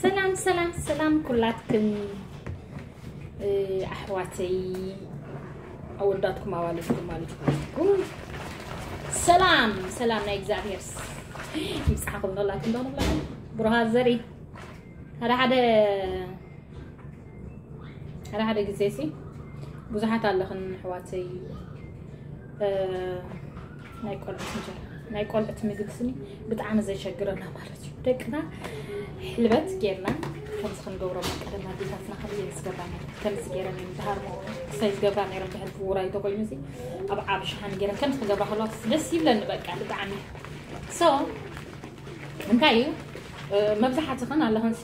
ሰላም ሰላም ሰላም ኩላትክን ኣሕዋተይ ኣወዳትኩም ኣዋልድኩም ማለት ኩላትኩም ሰላም ሰላም ናይ እግዚኣብሔር ምጽሓኹም ነላትኩም ዶ ነብላኩም ብሩሃት ዘርኢ ሓደ ሓደ ሓደ ሓደ ግዜ ሲ ብዙሓት ኣለኽን ኣሕዋተይ ናይ ቆልዑት እንጀራ ናይ ቆልዑት ምግቢ ስኒ ብጣዕሚ ዘሸግረና ማለት እዩ። ደቅና ሕልበት ጌርና ከምዚ ክንገብሮም ቀደም ኣዴታትና ከምዚ እየን ዝገብራ ነይረን። ከምዚ ጌረን እየን ዝሃርሞ ክሳይ ዝገብራ ነይረን። ብሕልፊ ውራይ ተኮይኑ እዚ ኣብ ዓቢ ሸሓኒ ጌረን ከምዚ ክገብራ ከለዋ ደስ ይብለኒ በቃ ብጣዕሚ። So እንታይ እዩ መብዛሕትኽን ኣለኽንሲ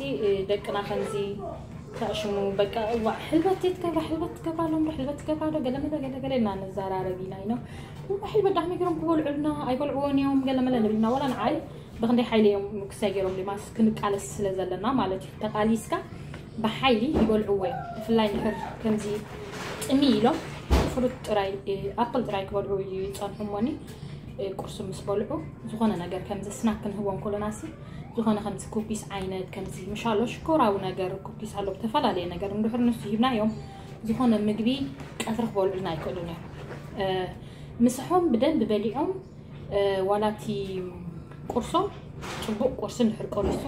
ደቅና ከምዚ ተዕሽሙ በቃ እዋ ሕልበት ትገብራ ሕልበት ትገብራ ኣሎ እምበር ሕልበት ትገብራ ዶ ገለመለ ገለገለ እና ንዘራረብ ኢና ኢኖ ሕልበት ዳሕሚ ገሮም ክበልዑልና ኣይበልዕዎን እዮም ገለመለ ንብልና ወላ ንዓይ ብክንደይ ሓይሊ እዮም ክሳይ ገሮም ዲማስ ክንቃለስ ስለ ዘለና ማለት እዩ ተቃሊስካ ብሓይሊ ይበልዕዎ እዮም ብፍላይ ንሕር ከምዚ ጥሚ ኢሎም ፍሩት ጥራይ ኣፕል ጥራይ ክበልዑ ይፀንሑ እሞኒ ቁርሲ ምስ በልዑ ዝኾነ ነገር ከምዚ ስናክ ክንህቦም ከሎና ሲ ዝኾነ ከምዚ ኩኪስ ዓይነት ከምዚ ምሻሎ ሽኮራዊ ነገር ኩኪስ ኣሎ ብተፈላለየ ነገር እንድሕር ንሱ ሂብናዮም ዝኾነ ምግቢ ቀትሪ ክበልዑልና ኣይክእሉን እዮም ምሳሖም ብደንብ በሊዖም ዋላ እቲ ቁርሶም ፅቡቅ ቁርሲ እንድሕር ቆሪሱ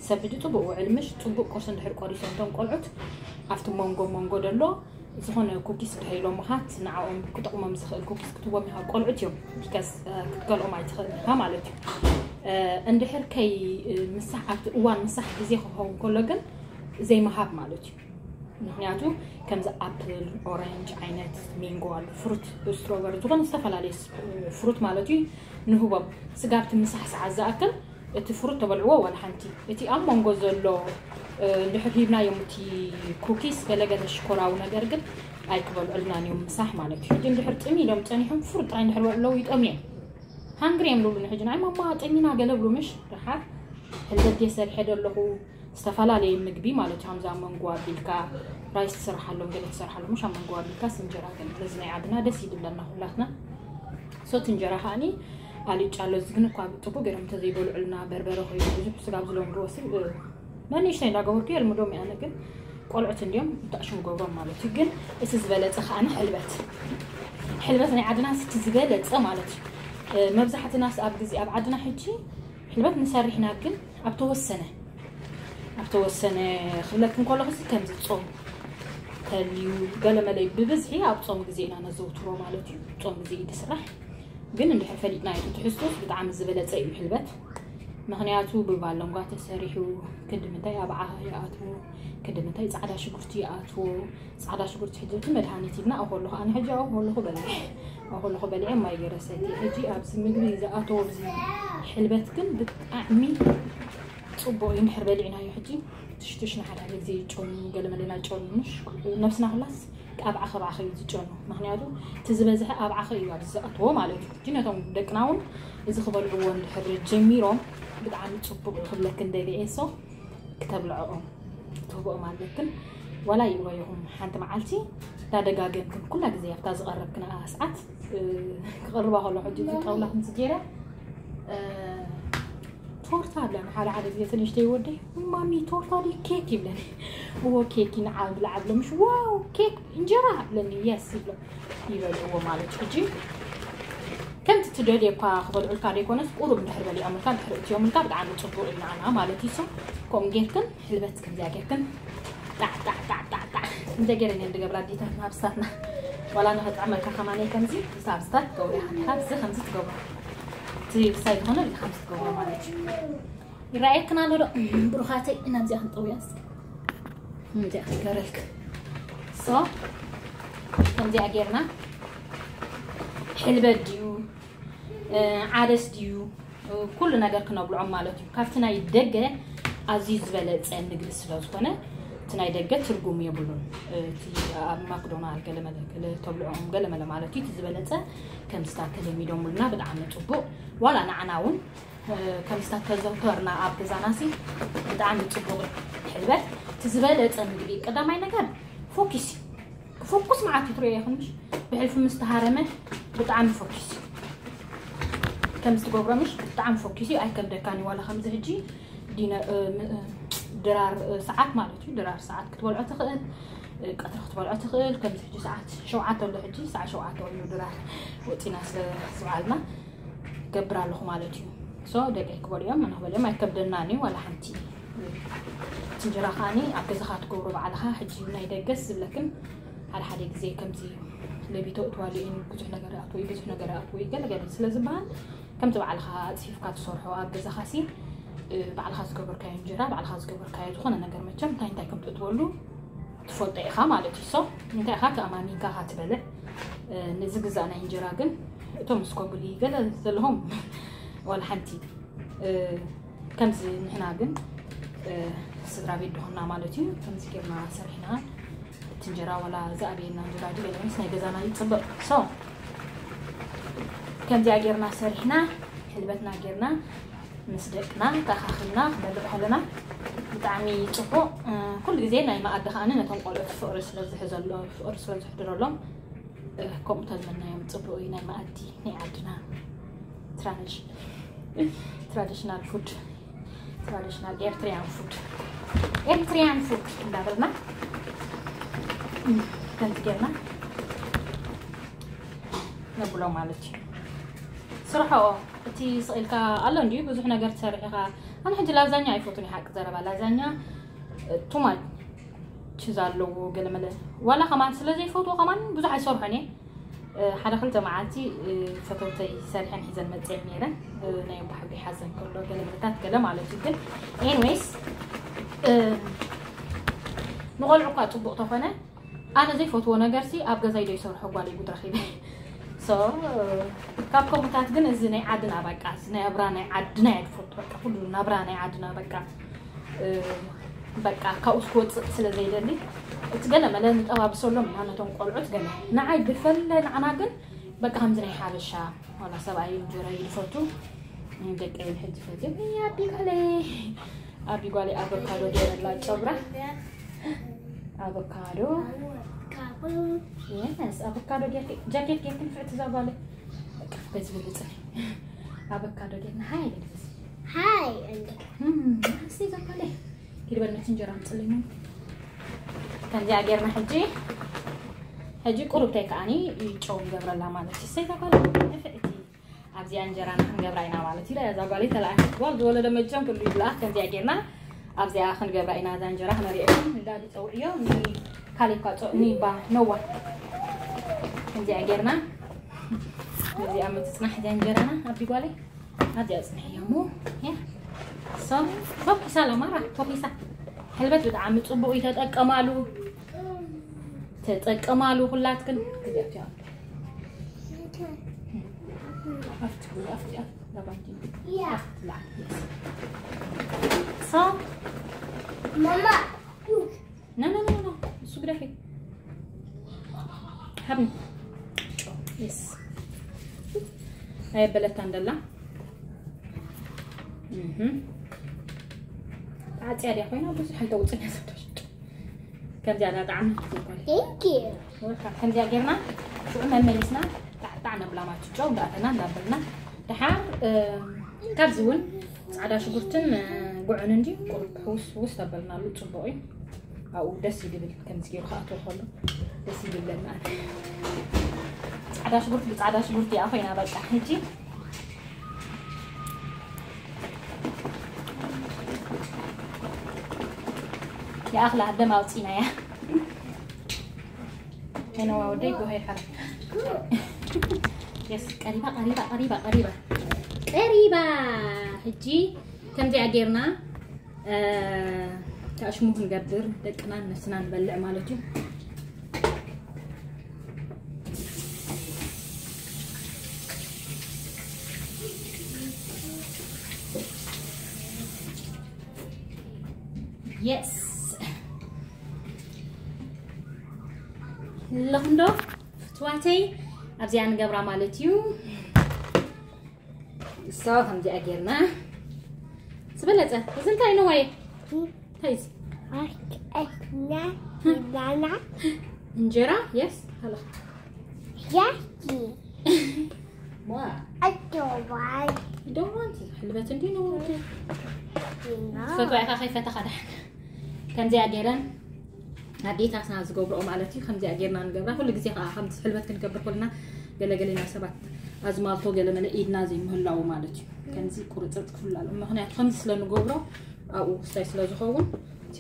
ሰብ ሕጂ ፅቡቅ ውዕል ምሽ ፅቡቅ ቁርሲ እንድሕር ቆሪሶም እቶም ቆልዑት ኣብቲ መንጎ መንጎ ደሎ ዝኾነ ኩኪስ ድሕር ኢሎም ምኻት ንዓኦም ክጠቕሞም ዝኽእል ኩኪስ ክትቦም ኢኻ ቆልዑት እዮም because ክትከልኦም ኣይትኽእል ኢኻ ማለት እዩ እንድሕር ከይ ምሳሕ ኣብቲ እዋን ምሳሕ ግዜ ክኸውን ከሎ ግን ዘይምሃብ ማለት እዩ ምክንያቱ ከምዚ ኣፕል ኦረንጅ ዓይነት ሚንጎ ኣሎ ፍሩት ስትሮበሪ ዝኾነ ዝተፈላለየ ፍሩት ማለት እዩ ንህቦም ስጋብቲ ምሳሕ ሰዓት ዝኣክል እቲ ፍሩት ተበልዕዎ ዋላ ሓንቲ እቲ ኣብ መንጎ ዘሎ እንድሕር ሂብናዮም እቲ ኩኪስ ገለገለ ሽኮራዊ ነገር ግን ኣይክበልዑልናን እዮም ምሳሕ ማለት እዩ ሕጂ እንድሕር ጥሚ ኢሎም ፀኒሖም ፍሩት ጥራይ እንድሕር በልዕለው ይጠምዮም ሃንግሪ እዮም ልብሉ ንሕጂ ናይ ማማ ጠሚና ገለ ብሉ ምሽ ድሓር ሕልበት ድየ ሰሪሐ ደለኹ ዝተፈላለየ ምግቢ ማለት እዩ ከምዚ ኣብ መንጎ ኣቢልካ ራይስ ትሰርሓሎም ገለ ትሰርሓሎም ምሽ ኣብ መንጎ ኣቢልካ ስንጀራ ገለ ስለዚ ናይ ዓድና ደስ ይድለና ኩላትና ሶት እንጀራ ከዓኒ ኣልጫ ኣሎ እዚ ግን እኳ ብጥቡ ገይሮም እንተዘይበልዑልና በርበረ ኮይኑ ብዙሕ ስጋብ ዝለምድዎ ስብ መን ንእሽተይ እንዳገበርኩ የልምዶም ኣነ ግን ቆልዑት እንዲዮም ብጣዕሽሙ ገብሮም ማለት እዩ ግን እቲ ዝበለፀ ከዓኒ ሕልበት ሕልበት ናይ ዓድና እቲ ዝበለፀ ማለት እዩ መብዛሕትናስ ኣብ ግዜ ኣብ ዓድና ሕጂ ሕልበት ንሰርሕና ግን ኣብ ተወሰነ ኣብ ተወሰነ ክብለክን ከለኹ ከምዚ ፆም ተልዩ ገለመለይ ብብዝሒ ኣብ ፆም ግዜ ኢና ነዘውትሮ ማለት እዩ ፆም ግዜ እዩ ዝስራሕ ግን እንድሕር ፈሊጥናዮ ትሕዝቶስ ብጣዕሚ ዝበለፀ እዩ ሕልበት ምኽንያቱ ብባለንጓ ተሰሪሑ ክንዲ ምንታይ ኣብ ዓኻ ይኣትዎ ክንዲ ምንታይ ፃዕዳ ሽጉርቲ ይኣትዎ ፃዕዳ ሽጉርቲ ሕጂ እቲ መድሃኒት ኢልና ኣው ከለኹ ኣነ ሕጂ ኣው ከለኹ በሊዐ ኣው ከለኹ በሊዐ ማይ ገይረ ሰትየ ሕጂ ኣብዚ ምግቢ ዝኣተዎ ኣብዚ ሕልበት ግን ብጣዕሚ ፅቡቕ እዩ እንድሕር በሊዕናዮ ሕጂ ትሽትሽ ንሓደ ሓደ ግዜ ይጨኑ ገለመለ ናይ ጨኑ ምሽ ነብስና ኩላስ ኣብ ዓኸብ ዓኸብ እዩ ዝጨኑ ምክንያቱ እቲ ዝበዝሐ ኣብ ዓኸ እዩ ኣብዚ ዝኣትዎ ማለት እዩ ሕጂ ነቶም ደቅና እውን እዚ ክበልዕዎ እንድሕር ጀሚሮም ብጣዕሚ ፅቡቕ እዩ ክብለክን ደልየ so ክተብልዐኦም ትህብኦም ኣለክን ዋላ ይእወይኹም ሓንቲ መዓልቲ እንዳደጋገምክን ኩላ ግዜ ኣብታ ዝቐረብክን ሰዓት ክቕርባ ከሎ ሕጂ እዚ ጣውላ ክንዚ ገይረ ቶርታ ኣለኒ ሓደ ሓደ ግዜ ትንሽተይ ወደይ ማሚ ቶርታ ድዩ ኬክ ይብለኒ እዎ ኬክ ይንዓል ብላ ዓብሎ ምሽ ዋው ኬክ እንጀራ ብለኒ የስ ይብሎ ይበልዕዎ ማለት ሕጂ ከምቲ ትደልየ እኳ ክበልዑልካ ዘይኮነስ ቁሩብ እንድሕር በሊዖምልካ እንድሕር እትዮምልካ ብጣዕሚ ፅቡቅ እዩ ንዓና ማለት እዩ ሶ ከምኡ ጌርክን ሕልበት ከምዚኣ ጌርክን ጣዕ ጣዕ ጣዕ ጣዕ ጣዕ እንደ ገይረን እየን ዝገብራ ኣዴታትና ኣብስታትና ዋላ ንኸጥዕመልካ ከማነይ ከምዚ ሳብስታት ትገብሩ ኢኻ ሓብዚ ከምዚ ትገብሩ እቲ ክሳይ ዝኾነ እዚ ከምዚ ትገብሩ ማለት እዩ ይረኣየክን ኣሎ ዶ ብሩኻተይ እናብዚኣ ክንጠውያ እስኪ እንዚኣ ክገረልክ ሶ ከምዚኣ ጌርና ሕልበት ድዩ ዓደስ ድዩ ኩሉ ነገር ክነብልዖም ማለት እዩ ካብቲ ናይ ደገ ኣዝዩ ዝበለፀ ምግቢ ስለ ዝኾነ እቲ ናይ ደገ ትርጉም የብሉን እቲ ኣብ ማክዶናል ገለመለ ተብልዖም ገለመለ ማለት እዩ እቲ ዝበለፀ ከምዝታት ተለሚዶምልና ብጣዕሚ ፅቡቅ ዋላ ንዓና እውን ከምስታት ተዘውተርና ኣብ ገዛና ሲ ብጣዕሚ ፅቡቅ እዩ ሕልበት እቲ ዝበለፀ ምግቢ ቀዳማይ ነገር ፎኪስ ፎኩስ መዓት እዩ ትሪኦ ኢኹን ምሽ ብሕልፊ ምስ ተሃረመ ብጣዕሚ ፎኪስ እዩ ከምዚ ትገብሮ ምሽ ብጣዕሚ ፎኪስ እዩ ኣይከብደካን እዩ ዋላ ከምዚ ሕጂ ዲነ ድራር ሰዓት ማለት እዩ። ድራር ሰዓት ክትበልዖ ትኽእል፣ ቀትሪ ክትበልዖ ትኽእል። ከምዚ ሕጂ ሰዓት ሸውዓተ ኣሎ፣ ሕጂ ሰዓት ሸውዓተ ኮይኑ ድራር ወፂና ስለ ዝበዓልና ገብር ኣለኹ ማለት እዩ። ሶ ደቀይ ክበልዮም ኣነ ክበልዮም ኣይከብደናን እዩ ዋላ ሓንቲ። እቲ እንጀራ ከዓኒ ኣብ ገዛኻ ትገብሮ ባዕልኻ። ሕጂ ናይ ደገስ ዝብለክን ሓደ ሓደ ግዜ ከምዚ ለቢቶ እትዋሉ ብዙሕ ነገር ኣትወይ ብዙሕ ነገር ኣትወይ ገለገለ ስለ ዝበሃል ከምቲ ባዕልኻ ኣፅፊፍካ ትሰርሖ ኣብ ገዛኻ ሲ ባዕልኻ ዝገበርካዮ እንጀራ ባዕልኻ ዝገበርካዮ ዝኾነ ነገር መቸም እንታይ እንታይ ከም ትእትወሉ ትፈልጦ ኢኻ ማለት እዩ። ሶ እንታይ ኢኻ ተኣማሚንካ ኢኻ ትበልዕ። ንዝግዛእ ናይ እንጀራ ግን እቶም ስኮብሊ ገለ ዘለኹም ዋላ ሓንቲ ከምዚ ንሕና ግን ስድራ ቤት ድኾና ማለት እዩ። ከምዚ ጌርና ሰሪሕና እቲ እንጀራ ዋላ ዝኣበየና እንጀራ ድዩ ገለ ምስ ናይ ገዛና ይፅብቕ። ሶ ከምዚኣ ጌርና ሰሪሕና ሕልበትና ጌርና ምስ ደቅና ተኻኺልና ክንበልዕ ከለና ብጣዕሚ ፅቡቕ። ኩሉ ግዜ ናይ መኣዲ ከዓኒ ነቶም ቆልዑት ፍቕሪ ስለ ዝሕዘሎ ፍቕሪ ስለ ዝሕድረሎም ከምኡ ተዝመናዮም ፅቡቕ እዩ። ናይ መኣዲ ናይ ዓድና ትራዲሽናል ፉድ ትራዲሽናል ኤርትሪያን ፉድ ኤርትሪያን ፉድ እንዳበልና ከምዚ ጌርና ነብሎ ማለት እዩ። ስርሖ እቲ ስቕ ኢልካ ኣሎ እንድዩ ብዙሕ ነገር ትሰርሕ ኢኻ። ኣነ ሕጂ ላዛኛ ኣይፈቱን እዩ ሓቂ ዘረባ ላዛኛ ቱማች ችዝ ኣለዎ ገለመለ ዋላ ከማን ስለ ዘይፈትዎ ከማን ብዙሕ ኣይሰርሖን እየ። ሓደ ክልተ መዓልቲ ፈተውተይ ሰሪሐን ሒዘን መፅየን ነይረን ናይ ባሕሪ ሓዘን ከሎ ገለመለታት ገለ ማለት እዩ። ግን ኤንዌይስ ንቆልዑ እኳ ፅቡቕ ተኾነ ኣነ ዘይፈትዎ ነገር ሲ ኣብ ገዛይ ዶ ይሰርሖ ጓለይ ጉድ ረኺበ። ሶ ካብ ከምኡታት ግን እዚ ናይ ዓድና በቃ እዚ ናይ ኣብራ ናይ ዓድና እየ ዝፈቱ በቃ ኩሉ ናብራ ናይ ዓድና በቃ በቃ ካብኡ ክወፅእ ስለ ዘይደሊ እቲ ገለ መለ ንጠባብሰሎም ኢና ነቶም ቆልዑት ገለ ንዓይ ብፈለ ንዓና ግን በቃ ከምዚ ናይ ሓበሻ ዋላ ሰብኣይ እንጀራ ይፈቱ ደቂ ሕጂ ፈትዮም ኣቢ ጓለይ ኣቢ ጓለይ ኣቮካዶ ገይረላ ጨብራ ኣቮካዶ የስ ኣቮካዶ ጌርኪ ጃኬት ጌርኪ ንፍዕቲ ዛጓለ በቃ በዚ ብልፅኒ ኣቮካዶ ጌርና ሃይ ልልብስ Hi, and እስቲ ዛጓለ ኪድበነት እንጀራ ምፅልኝ ከምዚኣ ጌርና ሕጂ ሕጂ ቁሩብተይ ከዓኒ ጨው ንገብረላ ማለት እዩ ሰይ ዛጓለ ንፍዕቲ ኣብዚኣ እንጀራና ክንገብራ ኢና ማለት እዩ እዛ ጓለይ ተለኣኪ ጓል ዝወለደ መቸም ኩሉ ይብልኣ ከምዚኣ ጌርና ኣብዚኣ ክንገብራ ኢና እዛ እንጀራ ክነሪኦ እንዳዲ ፀውዕዮ ኒ ካሌብ ካ ኒ ባ ነዋ ከምዚኣ ጌርና ነዚኣ ምትፅናሕ እዚኣ እንጀራና ኣቢ ጓለይ ኣብዚኣ ፅንሕዮ ሞ ሶ ፎኪሳ ለማራ ፎኪሳ ሕልበት ብጣዕሚ ፅቡቅ እዩ ተጠቀማሉ ተጠቀማሉ ኩላትክን ክዚኣትዮ ኣብቲ ኣብቲ ኣብቲ ላባንኪ Yeah. ላዓል Mama. ኖ ኖ ኖ ኖ እሱ ግደፊ ሃብኒ የስ ኣየበለታ እንደላ ዓፅያ ድያ ኮይና ብዙሕ ኣይተውፅን እያ ዘብዳሽ ከምዚኣ ዳ ጣዕሚ ትዘጓል Thank you. ወልካ ከምዚኣ ጌርና ሽዑ መመሊስና ጣዕጣዕ ነብላ ማለት ጨው እንዳእተና እንዳበልና ድሓር ካብዚ እውን ፃዕዳ ሽጉርትን ጉዕን እንዲ ቁሩብ ሕውስ ውስ ተበልናሉ ፅቡቅ እዩ ኣብኡ ደስ ይድብል ከምዚ ገይሩ ክኣትዎ ከሎ ደስ ይድብለና ፃዕዳ ሽጉርቲ ብፃዕዳ ሽጉርቲ እያ ኮይና በቃ ሕጂ ይኣኽላ ደም ኣውፂናያ ኣይነዋ ወደይ ጎሃይ ሓር የስ ቀሪባ ቀሪባ ቀሪባ ቀሪባ ቀሪባ ሕጂ ከምዚኣ ጌርና ታሽሙ ክንገብር ደቅናን ነስና ንበልዕ ማለት እዩ የስ ኣለኹም ዶ ፍትዋተይ ኣብዚኣ ንገብራ ማለት እዩ so ከምዚኣ ጌርና ዝበለፀ እዚ እንታይ ነዋየ እንታይ እዚ Artesna Lana. እንጀራ የስ ሃላ Yaki. ዋ Adorable. ደዋንቲ ሕልበት እንዲ ነዋንቲ Ina. ፈትዋ ኢኻ ከይፈተኻ ዳሕና ከምዚኣ ገይረን ኣዴታትና ዝገብርኦ ማለት እዩ። ከምዚኣ ገይርና ንገብራ። ኩሉ ግዜ ከዓ ከምዚ ሕልበት ክንገብር ከለና ገለገለና ሰባት ኣዝማልቶ ገለመለ ኢድና ዘይምህላው ማለት እዩ። ከምዚ ቁርፅርፅ ክፍላሉ ምክንያቱ ከምዚ ስለ ንገብሮ ኣብኡ ክስታይ ስለ ዝኸውን እቲ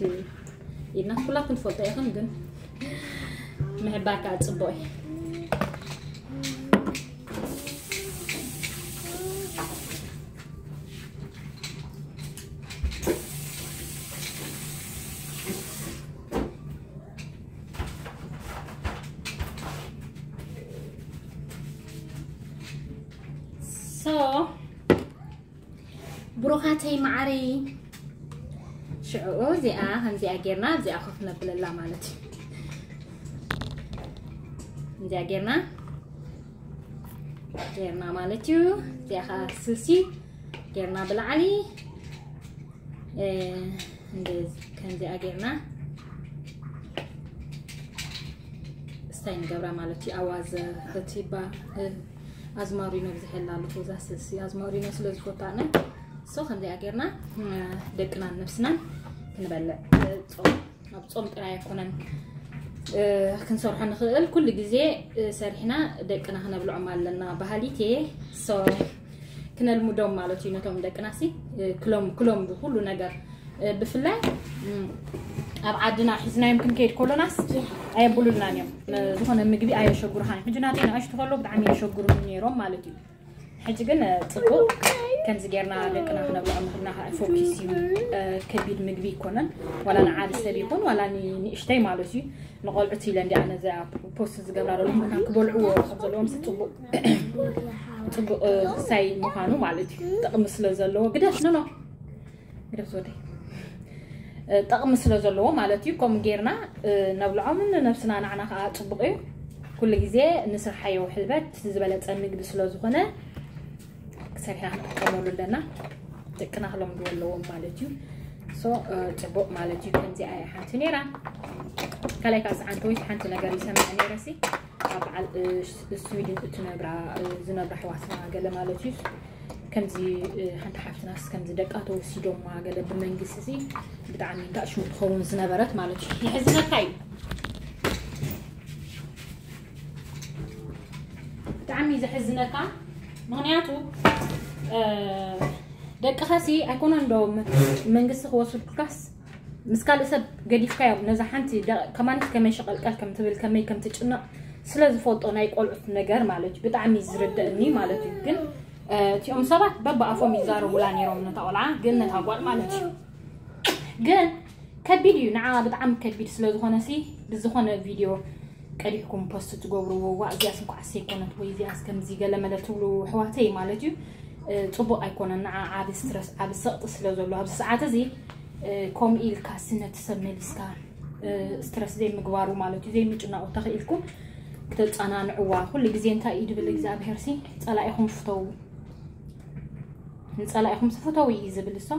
ኢድና ኩላትኩም ትፈልጦ ኢኹም፣ ግን ምሕባር ከዓ ፅቡቅ እዩ። So ብሩኻተይ መዓረይ ሽዑ እዚኣ ከምዚኣ ጌርና ኣብዚኣ ኮፍ ነብለላ ማለት እዩ። እዚኣ ጌርና ጌርና ማለት እዩ። እዚኣ ከዓ ስልሲ ጌርና ብላዕሊ እ፣ እንደዚ ከምዚኣ ጌርና ስታይ ንገብራ ማለት እዩ። ኣዋዘ፣ ከቲባ፣ እ፣ ኣዝማሪኖ ብዝሕ የላ ኣለኹ። እዛ ስልሲ ኣዝማሪኖ ስለ ዝፈቱ ኣነ። ሶ ከምዚኣ ጌርና፣ እ፣ ደቅናን ነብስናን ክንበልዕ፣ እ፣ ጾም፣ ኣብ ጾም ጥራይ ኣይኮነን፣ እ፣ ክንሰርሖ ንኽእል። ኩሉ ግዜ፣ እ፣ ሰሪሕና ደቅና ክነብልዖም ኣለና በሃሊት እየ። ሶ ክነልምዶም ማለት እዩ ነቶም ደቅናሲ፣ እ፣ ክሎም-፣ ክለምዱ ኩሉ ነገር፣ እ፣ ብፍላይ፣ እም፣ ኣብ ዓድና ሒዝናዮም ክንከይድ ከሎናስ ኣየብሉልናን እዮም። እ፣ ዝኾነ ምግቢ ኣየሸጉርኻን እዮም። ሕጂ ናተይ ንኣሽቱ ከሎ ብጣዕሚ የሸጉሩኒ ነይሮም ማለት እዩ። ሕጂ ግን፣ እ፣ ጽቡቕ ከምዚ ጌርና ደቅና ክነብልዖም ምኽልና ከዓ ፎኪስ እዩ። እ፣ ከቢድ ምግቢ ኣይኮነን። ዋላ ንዓቢ ሰብ ይኹን ዋላ ኒ-፣ ንእሽተይ ማለት እዩ። ንቆልዑት ኢለ እንዲ ኣነ እዚኣ ፖስት ዝገብራ ዘለኹ ምኽንያት ክበልዕዎ ካብ ዘለዎም ጽቡቕ፣ ጽቡቕ፣ እ፣ ሳይ ምዃኑ ማለት እዩ። ጥቕሚ ስለ ዘለዎ ግደፍ፣ ኖ፣ ኖ፣ ግደፍ ዝወደይ። እ፣ ጥቕሚ ስለ ዘለዎ ማለት እዩ። ከምኡ ጌርና፣ እ፣ ነብልዖምን ንነብስና ንዓና ከዓ ጽቡቕ እዩ። ኩሉ ግዜ ንስርሓዮ ሕልበት ዝበለጸ ምግቢ ስለ ዝኾነ ሰሪሕና ክንጥቀመሉ ኣለና። ደቅና ክለምድዎ ኣለዎም ማለት እዩ። ሶ፣ እ፣ ጽቡቕ ማለት እዩ። ከምዚኣ እያ ሓንቲ ነይራ። ካልኣይ ከዓ ሰዓንተ ወይ ሓንቲ ነገር ይሰምዐ ነይረ ሲ፣ ኣብ በዓል፣ እ፣ ስ-፣ ስዊድን እትነብራ፣ እ፣ ዝነብራ ኣሕዋትና ገለ ማለት እዩ። ከምዚ፣ እ፣ ሓንቲ ሓፍትናስ ከምዚ ደቃ ተወሲዶማ ገለ ብመንግስቲ ሲ ብጣዕሚ እንታይ ሽሙ ትኸውን ዝነበረት ማለት እዩ። የሕዝነካ እዩ። ብጣዕሚ ዘሕዝነካ። ምኽንያቱ፣ እ፣ ደቅኻሲ ኣይኮነን ዶ ም-፣ መንግስቲ ክወስድኩልካስ ምስ ካልእ ሰብ ገዲፍካዮም ነዛ ሓንቲ ደ-፣ ከማንስ ከመይ ሸቐልቀል ከም ትብል፣ ከመይ ከም ትጭነቕ ስለ ዝፈልጦ ናይ ቆልዑት ነገር ማለት እዩ። ብጣዕሚ ዝርደእኒ ማለት እዩ። ግን፣ እ፣ እቲኦም ሰባት በብኣፎም ይዛረቡላ ነይሮም ነታ ቆልዓ፣ ግን ነታ ጓል ማለት እዩ። ግን ከቢድ እዩ፣ ንዓ ብጣዕሚ ከቢድ ስለ ዝኾነ ሲ ብዝኾነ ቪድዮ ቀዲሕኩም ፖስት ትገብርዎ፣ ዋ እዚኣስ እንኳዕ ዘይኮነት ወይ እዚኣስ ከምዚ ገለ መለ ትብሉ ኣሕዋተይ ማለት እዩ። እ፣ ጽቡቕ ኣይኮነን፣ ንዓ ዓቢ ስትረስ፣ ዓቢ ሰቕጢ ስለ ዘሎ ኣብዚ ሰዓት እዚ፣ እ፣ ከምኡ ኢልካ ሲ ነቲ ሰብ መሊስካ፣ እ፣ ስትረስ ዘይምግባሩ ማለት እዩ፣ ዘይምጭናቑ ተኽኢልኩም ክተጸናንዕዋ። ኩሉ ግዜ እንታይ እዩ ድብል እግዚኣብሄር ሲ፣ ጸላኢኹም ፍተዉ። ንጸላኢኹም ፍተዉ እዩ ዝብል እሶ።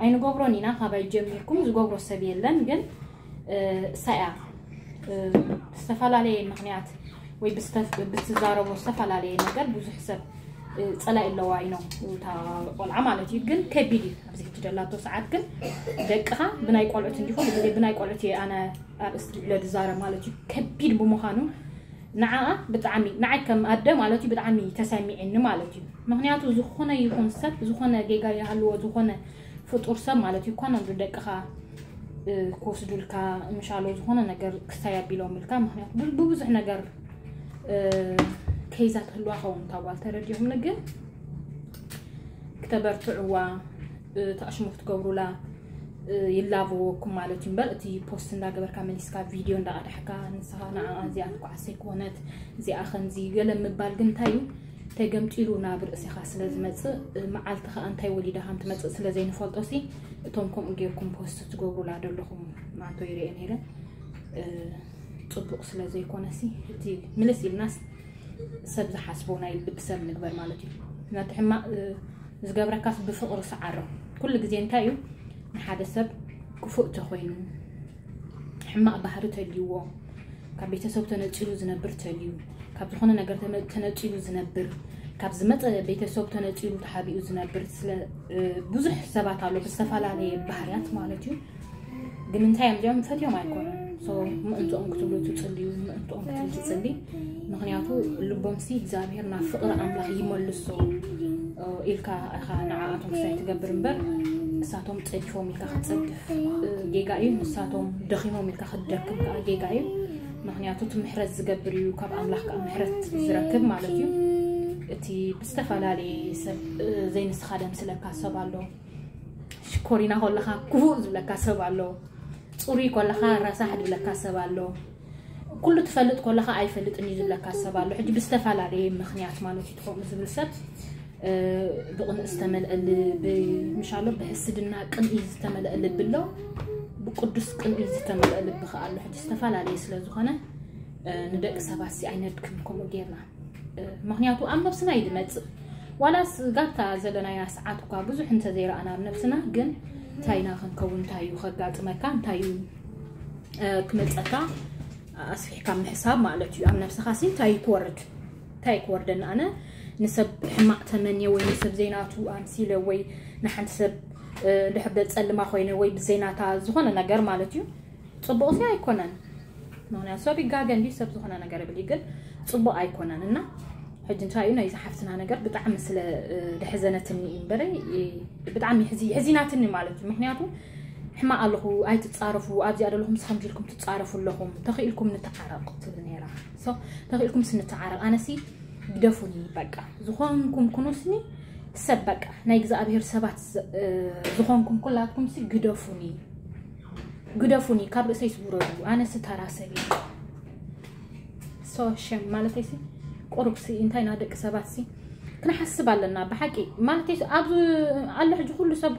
ኣይንገብሮን ኢና፣ ካባይ ጀሚርኩም ዝገብሮ ሰብ የለን። ግን፣ እ፣ እሳ እያ፣ እ፣ ብዝተፈላለየ ምኽንያት ወይ ብዝተ-፣ ብትዛረቦ ዝተፈላለየ ነገር ብዙሕ ሰብ፣ እ፣ ጸላኢ ኣለዋ ኢኖ እታ ቆልዓ ማለት እዩ። ግን ከቢድ እዩ ኣብዚ ሕጂ ደላቶ ሰዓት። ግን ደቅኻ ብናይ ቆልዑት እንዲኹም፣ ብናይ ቆልዑት እየ ኣነ ኣርእስቲ ብለ ዝዛረብ ማለት እዩ። ከቢድ ብምዃኑ ንዓኣ ብጣዕሚ፣ ንዓይ ከም ኣደ ማለት እዩ፣ ብጣዕሚ ተሰሚዕኒ ማለት እዩ። ምኽንያቱ ዝኾነ ይኹን ሰብ፣ ዝኾነ ጌጋ ይሃልዎ፣ ዝኾነ ፍጡር ሰብ ማለት እዩ፣ እኳ ነብዱ ደቅኻ፣ እ፣ ክወስዱልካ፣ ምሻሎ ዝኾነ ነገር ክሳይ ኣቢሎምልካ፣ ምኽንያቱ ብ-፣ ብብዙሕ ነገር፣ እ፣ ከይዛ ትህልዋ ኸውን እታ ጓል ተረዲኹምኒ፣ ግን ክተበርትዕዋ፣ እ፣ ተኣሽሙ ክትገብሩላ፣ እ፣ ይላበወኩም ማለት እዩ። እምበር እቲ ፖስት እንዳገበርካ መሊስካ ቪድዮ እንዳቐዳሕካ ንስኻ ንዓኣ እዚኣ ትኳዓሰ ኣይኮነት፣ እዚኣ ከምዚ ገለ ምባል ግን እንታይ እዩ? ተገምጢሉ ናብ ርእስኻ ስለ ዝመጽእ፣ እ፣ መዓልቲ ኸኣ እንታይ ወሊዳ ከም ትመጽእ ስለ ዘይንፈልጦ ሲ፣ እቶም ከምኡ ጌርኩም ፖስት ትገብሩላ ዘለኹም ማንቶ ይርእየ ነይረ። እ፣ ጽቡቕ ስለ ዘይኮነ ሲ፣ እቲ ምልስ ኢልናስ ሰብ ዝሓስቦ ናይ ልቢ ሰብ ንግበር ማለት እዩ። ነቲ ሕማቕ፣ እ፣ ዝገብረካስ ብፍቕሪ ሰዓሮ። ኩሉ ግዜ እንታይ እዩ ንሓደ ሰብ ክፉእ ተኾይኑ፣ ሕማቕ ባህሪ ተልይዎ፣ ካብ ቤተሰብ ተነጺሉ ዝነብር ተልዩ፣ ካብ ዝኾነ ነገር ተመ-፣ ተነጺሉ ዝነብር፣ ካብ ዝመጸ ቤተሰብ ተነጺሉ ተሓቢኡ ዝነብር፣ ስለ፣ እ፣ ብዙሕ ሰባት ኣሎ ብዝተፈላለየ ባህርያት ማለት እዩ። ግን እንታይ እዮም እዚኦም ፈትዮም ኣይኮኑን። So ምእንትኦም ክትብሉ ትጽልዩ፣ ምእንትኦም ክትብል ትጽሊ። ምኽንያቱ ልቦምሲ እግዚኣብሔር ናብ ፍቕሪ ኣምላኽ ይመልሶ ኢልካ ኢኻ ንዓኣቶም ክሳይ ትገብር እምበር፣ እሳቶም ጸዲፎም ኢልካ ክትጸድፍ ጌጋ እዩ። ንሳቶም ደኺሞም ኢልካ ክትደክም ከዓ ጌጋ እዩ። ምኽንያቱ እቲ ምሕረት ዝገብር እዩ፣ ካብ ኣምላኽ ከዓ ምሕረት ዝረክብ ማለት እዩ። እቲ ብዝተፈላለየ ሰብ ዘይንስኻ ደምስለካ ሰብ ኣሎ። ሽኮሪና ከለኻ ክፉእ ዝብለካ ሰብ ኣሎ። ጽሩይ ከለኻ ረሳሕ ዝብለካ ሰብ ኣሎ። ኩሉ ትፈልጥ ከለኻ ኣይፈልጥን እዩ ዝብለካ ሰብ ኣሎ። ሕጂ ብዝተፈላለየ ምኽንያት ማለት እዩ ትኾኑ ዝብል ሰብ ብቕንኢ ዝተመልአ ልቢ ምሻሎ፣ ብሕስድና ቅንኢ ዝተመልአ ልቢ ኣሎ፣ ብቅዱስ ቅንኢ ዝተመልአ ልቢ ከኣ ኣሎ። ሕጂ ዝተፈላለየ ስለ ዝኾነ ንደቂ ሰባት ሲ ኣይነድክም ከምኡ ጌርና። ምኽንያቱ ኣብ ነብስና እዩ ዝመጽእ። ዋላስ ጋብታ ዘለናያ ሰዓት እኳ ብዙሕ እንተዘይረኣና ኣብ ነብስና፣ ግን እንታይ ኢና ክንከውን፣ እንታይ እዩ ከጋጥመካ፣ እንታይ እዩ ክመጸካ ኣስፊሕካ ምሕሳብ ማለት እዩ። ኣብ ነብስኻ ሲ እንታይ ክወርድ እንታይ ክወርደኒ ኣነ ንሰብ ሕማቕ ተመንየ ወይ ንሰብ ዘይናቱ ኣምሲለ ወይ ንሓንቲ ሰብ ድሕር ጸልማ ኮይነ ወይ ብዘይናታ ዝኾነ ነገር ማለት እዩ ጽቡቕ ሲ ኣይኮነን። ምኽንያቱ ሰብ ይጋገ እንዲ ሰብ ዝኾነ ነገር ይብል ግን ጽቡቕ ኣይኮነን። እና ሕጂ እንታይ እዩ ናይዚ ሓፍትና ነገር ብጣዕሚ ስለ ደሕዘነትኒ እምበረ ብጣዕሚ ሕዚናትኒ ማለት እዩ። ምኽንያቱ ሕማቕ ኣለኹ ኣይትጻረፉ ኣብዚኣ ደለኹም ስኸምዚ ኢልኩም ትጻረፉ ኣለኹም ተኽኢልኩም ንተዓረቕ ትብል ነይራ። ተኽኢልኩም ስንተዓረቕ ኣነሲ ግደፉኒ በቃ ዝኾንኩም ኩኑስኒ ሰብ በቃ ናይ እግዚኣብሔር ሰባት ዝኾንኩም ኩላትኩም ሲ ግደፉኒ ግደፉኒ ካብ ርእሰይ ስውረዱ ኣነሲ ተራ ሰብ እየ። So shame ማለተይ ሲ ቁሩብ ሲ እንታይ ና ደቂ ሰባት ሲ ክንሓስብ ኣለና ብሓቂ ማለተይ ሲ ኣብዚ ኣሎ ሕጂ ኩሉ ሰብ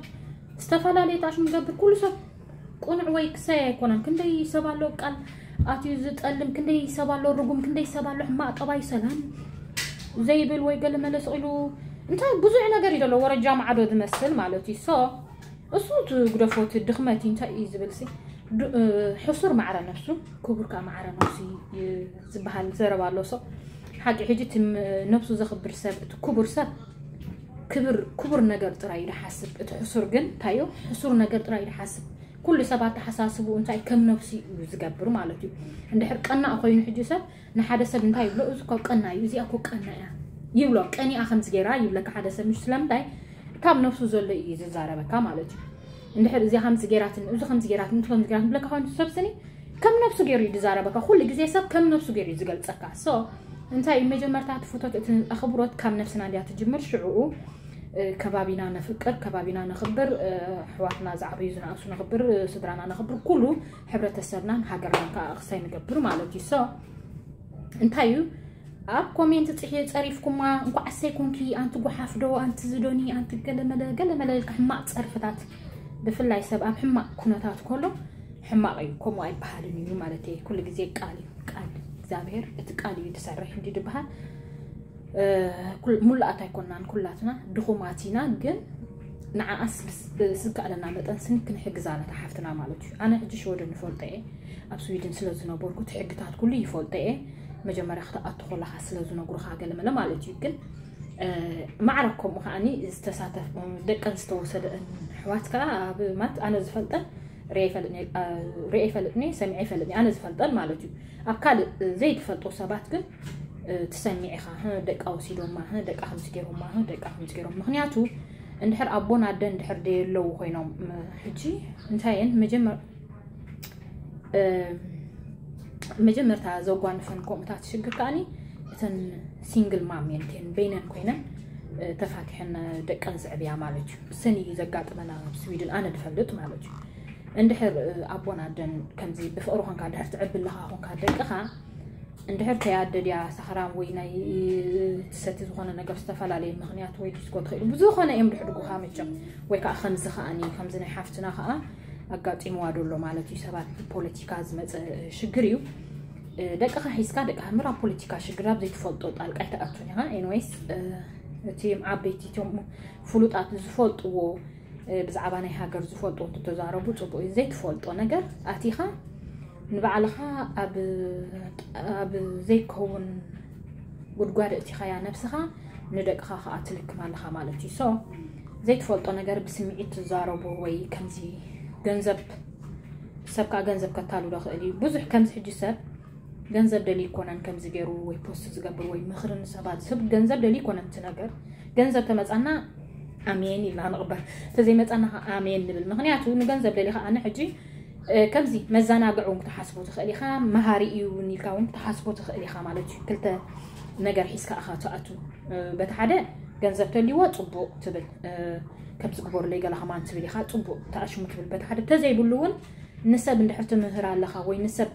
ዝተፈላለየ ታሽሙ ገብር ኩሉ ሰብ ቁኑዕ ወይ ክሰይ ኣይኮነን። ክንደይ ሰብ ኣሎ ቃል ኣትዩ ዝጠልም፣ ክንደይ ሰብ ኣሎ ርጉም፣ ክንደይ ሰብ ኣሎ ሕማቕ ጠባይ ሰላም ዘይብል ወይ ገለ መለስ ኢሉ እንታይ ብዙሕ ነገር እዩ ዘሎ ወረጃ ማዕዶ ዝመስል ማለት እዩ። So እሱ ትግደፎ እቲ ድኽመት እንታይ እዩ ዝብል ሲ ሕሱር ማዕረ ነፍሱ ክቡር ከዓ ማዕረ ነፍሱ ዝበሃል ዘረባ ኣሎ። So ሓቂ ሕጂ እቲ ነብሱ ዘኽብር ሰብ እቲ ክቡር ሰብ ክብር ክቡር ነገር ጥራይ ይሓስብ። እቲ ሕሱር ግን እንታይ እዩ ሕሱር ነገር ጥራይ ይሓስብ። ኩሉ ሰብ ኣተሓሳስቡ እንታይ ከም ነብሲ እዩ ዝገብር ማለት እዩ። እንድሕር ቀናእ ኮይኑ ሕጂ ሰብ ንሓደ ሰብ እንታይ ይብሎ እዚ እኮ ቀና እዩ እዚኣ እኮ ቀና እያ ይብሎ። ቀኒኣ ከምዚ ገይራ ይብለካ ሓደ ሰብ ምሽ ስለምንታይ ካብ ነብሱ ዘሎ እዩ ዝዛረበካ ማለት እዩ። እንድሕር እዚኣ ከምዚ ገይራትን እዚ ከምዚ ገይራትን እዚ ከምዚ ገይራትን ብለካ ኮይኑ ሰብ ስኒ ከም ነብሱ ገይሩ እዩ ዝዛረበካ። ኩሉ ግዜ ሰብ ከም ነብሱ ገይሩ እዩ ዝገልጸካ። So እንታይ እዩ መጀመርታ ትፍቶት እቲ ኣኽብሮት ካብ ነብስና እንዲያ ትጅምር ሽዕኡ ከባቢና ነፍቅር ከባቢና ነኽብር ኣሕዋትና ዝዓበዩ ዝነኣሱ ነኽብር ስድራና ነኽብር ኩሉ ሕብረተሰብናን ሃገርናን ከዓ ክሳይ ንገብር ማለት እዩ። So እንታይ እዩ ኣብ ኮሜንት ፅሒ ፀሪፍኩማ እንኳዕ ኣሰይ ኮንኪ ኣንቲ ጓሓፍ ዶ ኣንቲ ዝዶኒ ኣንቲ ገለመለ ገለመለ ኢልካ ሕማቕ ፀርፍታት ብፍላይ ሰብ ኣብ ሕማቕ ኩነታት ከሎ ሕማቕ እዩ። ከምኡ ኣይበሃልን እዩ ማለት እዩ። ኩሉ ግዜ ቃል እዩ ቃል እግዚኣብሔር እቲ ቃል እዩ ዝሰርሕ እንዲ ዝበሃል። ሙሉኣት ኣይኮናን ኩላትና ድኹማት ኢና ግን ንዓኣስ ዝከኣለና መጠን ስኒ ክንሕግዛ ነታ ሓፍትና ማለት እዩ። ኣነ ሕጂ ሽወደን ይፈልጦ እየ ኣብ ስዊድን ስለ ዝነበርኩ እቲ ሕግታት ኩሉ ይፈልጦ እየ። መጀመርያ ክትኣቱ ከለካ ስለ ዝነግሩካ ገለመለ ማለት እዩ። ግን ማዕረ ከምኡ ከዓኒ ዝተሳተፍ ደቀን ዝተወሰደን ኣሕዋት ከዓ ኣብ ማለት ኣነ ዝፈልጠን ሪአ ይፈልጥኒ ሰሚዐ ይፈልጥኒ ኣነ ዝፈልጠን ማለት እዩ። ኣብ ካልእ ዘይትፈልጦ ሰባት ግን ትሰሚዕ ኢኻ ደቃ ወሲዶማ ደቃ ከምዚ ገይሮማ ደቃ ከምዚ ገይሮም ምክንያቱ እንድሕር ኣቦን ኣደን እንድሕር ደየለዉ ኮይኖም ሕጂ እንታይ እየን መጀመር መጀመርታ ዘጓንፈን ከምኡታት ሽግር ከዓኒ እተን ሲንግል ማም እየን እተን በይነን ኮይነን ተፋቲሐን ደቀን ዝዕብያ ማለት እዩ። ሰኒ እዩ ዘጋጥመና ኣብ ስዊድን ኣነ ድፈልጥ ማለት እዩ። እንድሕር ኣቦን ኣደን ከምዚ ብፍቕሪ ኮንካ ድሕር ትዕብልኻ ኮንካ ደቅኻ እንድሕር ተያደ ድያ ሰኽራም ወይ ናይ ትሰቲ ዝኾነ ነገር ዝተፈላለየ ምኽንያት ወይ ዲስኮ ትኽእል ብዝኾነ እዮም ድሕድጉኻ መቸም ወይ ከዓ ከምዚ ከዓኒ ከምዚ ናይ ሓፍትና ከዓ ኣጋጢምዋ ዶሎ ማለት እዩ። ሰባት ብፖለቲካ ዝመፀ ሽግር እዩ። ደቅኻ ሒዝካ ደቅኻ ምር ኣብ ፖለቲካ ሽግር ኣብ ዘይትፈልጦ ጣልቃ ኣይትኣቱን ኢኻ። ኤንወይስ እቲ ዓበይቲ እቶም ፍሉጣት ዝፈልጥዎ ብዛዕባ ናይ ሃገር ዝፈልጥዎ እንትተዛረቡ ፅቡቅ እዩ። ዘይትፈልጦ ነገር ኣቲኻ ንባዕልኻ ኣብ ዘይከውን ጉድጓድ እቲኻያ ነብስኻ ንደቅኻ ከዓ ትልክም ኣለኻ ማለት እዩ። So ዘይትፈልጦ ነገር ብስምዒት ትዛረቡ ወይ ከምዚ ገንዘብ ሰብ ከዓ ገንዘብ ከታሉ ዶ ክእል እዩ። ብዙሕ ከምዚ ሕጂ ሰብ ገንዘብ ደሊ ይኮነን ከምዚ ገይሩ ወይ ፖስት ዝገብር ወይ ምኽሪ ንሰባት ዝህብ ገንዘብ ደሊ ይኮነን። እቲ ነገር ገንዘብ ተመፃና ኣሜን ኢልና ንቕበል፣ ተዘይመፃና ከዓ ኣሜን ንብል። ምክንያቱ ንገንዘብ ደሊ ከዓ ንሕጂ ከምዚ መዘናግዒ እውን ክትሓስቦ ትኽእል ኢኻ፣ መሃሪ እዩ እውን ኢልካ እውን ክትሓስቦ ትኽእል ኢኻ ማለት እዩ። ክልተ ነገር ሒዝካ ኢኻ ትኣቱ። በቲ ሓደ ገንዘብ ተልይዎ ፅቡቕ ትብል፣ ከምዚ ግበሩለይ ገለ ከማን ትብል ኢኻ፣ ፅቡቕ ተኣሽሙ ትብል። በቲ ሓደ ተዘይብሉ እውን ንሰብ እንድሕር ትምህር ኣለኻ ወይ ንሰብ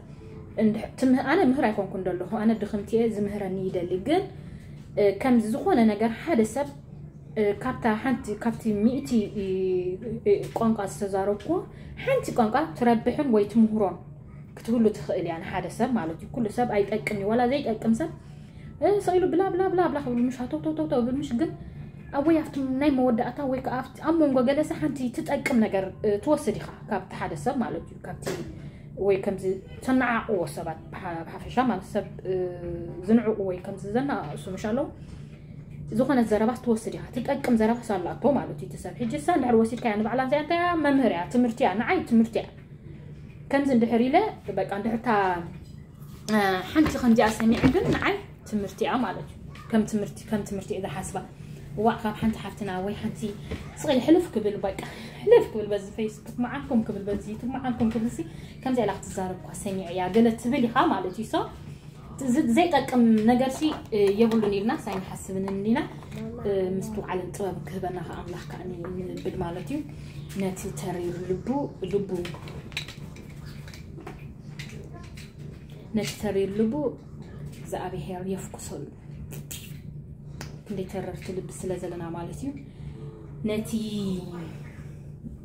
ኣነ ምህር ኣይኮንኩን ዘለኹ፣ ኣነ ድኽምቲ እየ፣ ዝምህረኒ ይደሊ። ግን ከምዚ ዝኾነ ነገር ሓደ ሰብ ካብታ ሓንቲ ካብቲ ሚእቲ ቋንቋ ዝተዛረብኩ ሓንቲ ቋንቋ ትረብሕን ወይ ትምህሮን ክትህሉ ትኽእል እያ ንሓደ ሰብ ማለት እዩ። ኩሉ ሰብ ኣይጠቅም እዩ፣ ዋላ ዘይጠቅም ሰብ ስኢሉ ብላ ብላ ብላ ብላ ክብል ምሽ ሃተውተውተውተው ብል ምሽ ግን ኣብ ወይ ኣብቲ ናይ መወዳእታ ወይ ከዓ ኣብቲ ኣብ መንጎ ገለሰ ሓንቲ ትጠቅም ነገር ትወስድ ኢኻ ካብቲ ሓደ ሰብ ማለት እዩ። ካብቲ ወይ ከምዚ ተነዓቕዎ ሰባት ብሓፈሻ ማለት ሰብ ዝንዕቑ ወይ ከምዚ ዘነቓቕሱ ምሽ ኣለዉ። ዝኾነ ዘረባስ ትወስድ ኢኻ፣ ትጠቅም ዘረባስ ኣላቶ ማለት እዩ። ትሰብ ሕጂ እሳ እንድሕር ወሲድካያ ንባዕላ እዚኣ እንታይ እያ? መምህር እያ፣ ትምህርቲ እያ፣ ንዓይ ትምህርቲ እያ። ከምዚ እንድሕር ኢለ በቃ እንድሕርታ ሓንቲ ከምዚኣ ሰሚዐ ግን ንዓይ ትምህርቲ እያ ማለት እዩ። ከም ትምህርቲ ከም ትምህርቲ እየ ዝሓስባ። ዋዕ ካብ ሓንቲ ሓፍትና ወይ ሓንቲ ስቕል ሕልፍ ክብል በቃ ሕልፍ ክብል በዚ ፌስ ክትመዓልኩም ክብል በዚ ትመዓልኩም ክብል ሲ ከምዚ ኢላ ክትዛረብ እኳ ሰሚዐ እያ ገለ ትብል ኢኻ ማለት እዩ። ሶ ዘይጠቅም ነገር ሲ የብሉን ኢልና ሳይንሓስብን እንዲና። ምስትውዓልን ጥበብ ክህበና ከ ኣምላኽ ከኣ ንብል ማለት እዩ። ነቲ ተሪር ልቡ ልቡ ነቲ ተሪር ልቡ እግዚኣብሔር የፍኩሰሉ። ክንደይ ተረርቲ ልቢ ስለ ዘለና ማለት እዩ። ነቲ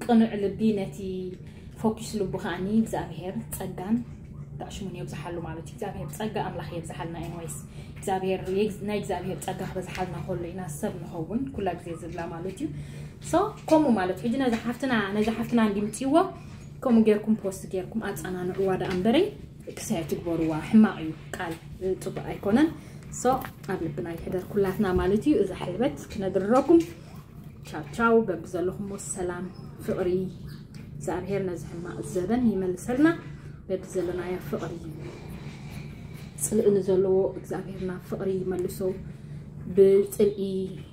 ቅኑዕ ልቢ ነቲ ፎኪስ ልቡ ከዓኒ እግዚኣብሔር ጸጋን ዳሽሙን የብዝሓሉ ማለት እዩ። እግዚኣብሔር ጸጋ ኣምላኽ የብዝሓልና። ኤንወይስ እግዚኣብሔር ናይ እግዚኣብሔር ጸጋ ክበዝሓልና ከሎ ኢና ሰብ ንኸውን ኩላ ግዜ ዝብላ ማለት እዩ። ሶ ከምኡ ማለት ሕጂ ነዚ ሓፍትና ነዚ ሓፍትና እንዲምፅዎ ከምኡ ጌርኩም ፖስት ጌርኩም ኣፀናንዕዋ ደኣ እምበረይ ክሳይ ትግበርዋ ሕማቕ እዩ። ቃል ፅቡቅ ኣይኮነን። ሶ ኣብ ልብና ይሕደር ኩላትና ማለት እዩ። እዛ ሕልበት ክነድርረኩም ቻው ቻው። በብዘለኹሞ ሰላም ፍቕሪ እግዚኣብሔር ነዚ ሕማቕ ዘበን ይመልሰልና። በብዘለናዮ ፍቕሪ ጽልኢ ንዘለዎ እግዚኣብሔርና ፍቕሪ ይመልሶ። ብጽልኢ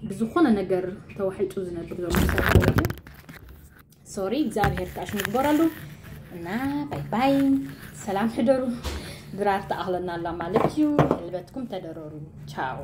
ብዝኾነ ነገር ተዋሒጡ ዝነብር ዘሎ ሰብ ማለት እዩ። ሶሪ እግዚኣብሔር ከዓ ሽሙ ይግበረሉ እና ባይ ባይ። ሰላም ሕደሩ። ድራር ተኣኽለና ኣላ ማለት እዩ። ሕልበትኩም ተደረሩ። ቻው።